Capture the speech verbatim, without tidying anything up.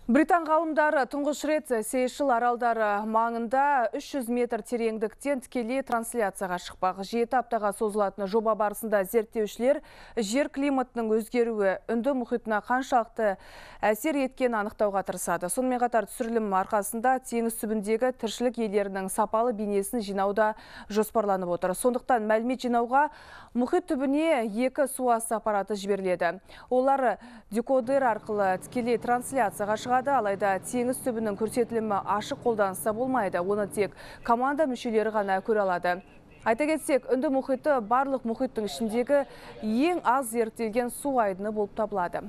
Британ ғалымдары тұңғыш рет Сейшел аралдары маңында үш жүз метр тереңдіктен тікелей трансляцияға шықпақ. Жеті аптаға созылатын жоба барысында зерттеушілер жер климатының өзгеруі Үнді мұхитына қаншалықты әсер еткен анықтауға тырысады. Сонымен қатар түсірілім арқасында теңіз түбіндегі тіршілік иелерінің сапалы бейнесін жинауда жоспарланып отыр. Сондықтан мәлімет жинауға мұхит түбіне екі суас аппараты жіберіледі. Олар декодер арқылы тікелей трансляцияға шығады. Алайда теңіз түбінің көрсетілімі ашық қолданыста болмайды. Оны тек команда мүшелері ғана көре алады. Айта кетсек, Үнді мұхиты барлық мұхиттың ішіндегі ең аз зерттелген су айдыны болып табылады.